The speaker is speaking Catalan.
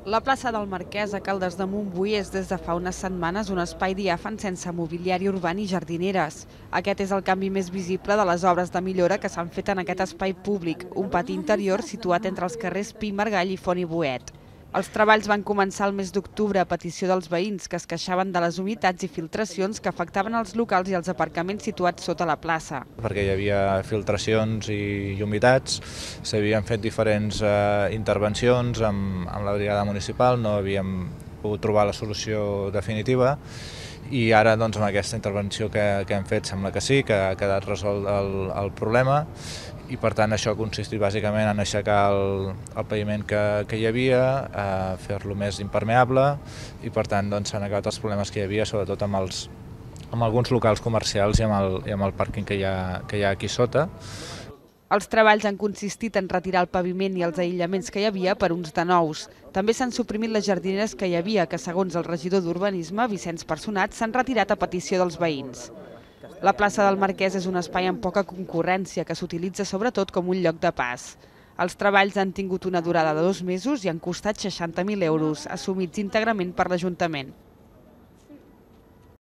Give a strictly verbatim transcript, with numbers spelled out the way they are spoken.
La plaça del Marquès a Caldes de Montbui és des de fa unes setmanes un espai diàfan sense mobiliari urbà ni jardineres. Aquest és el canvi més visible de les obres de millora que s'han fet en aquest espai públic, un pati interior situat entre els carrers Pi i Margall i Font i Boet. Els treballs van començar el mes d'octubre a petició dels veïns que es queixaven de les humitats i filtracions que afectaven els locals i els aparcaments situats sota la plaça. Perquè hi havia filtracions i humitats, s'havien fet diferents eh, intervencions amb, amb la brigada municipal, no havíem pogut trobar la solució definitiva i ara doncs, amb aquesta intervenció que, que hem fet sembla que sí, que ha quedat resolt el, el problema i per tant això ha consistit bàsicament en aixecar el, el paviment que, que hi havia, eh, fer-lo més impermeable i per tant doncs, s'han acabat els problemes que hi havia, sobretot amb, els, amb alguns locals comercials i amb el, i amb el pàrquing que hi ha, que hi ha aquí sota. Els treballs han consistit en retirar el paviment i els aïllaments que hi havia per uns de nous. També s'han suprimit les jardineres que hi havia, que segons el regidor d'Urbanisme, Vicenç Personat, s'han retirat a petició dels veïns. La plaça del Marquès és un espai amb poca concurrència que s'utilitza sobretot com un lloc de pas. Els treballs han tingut una durada de dos mesos i han costat seixanta mil euros, assumits íntegrament per l'Ajuntament.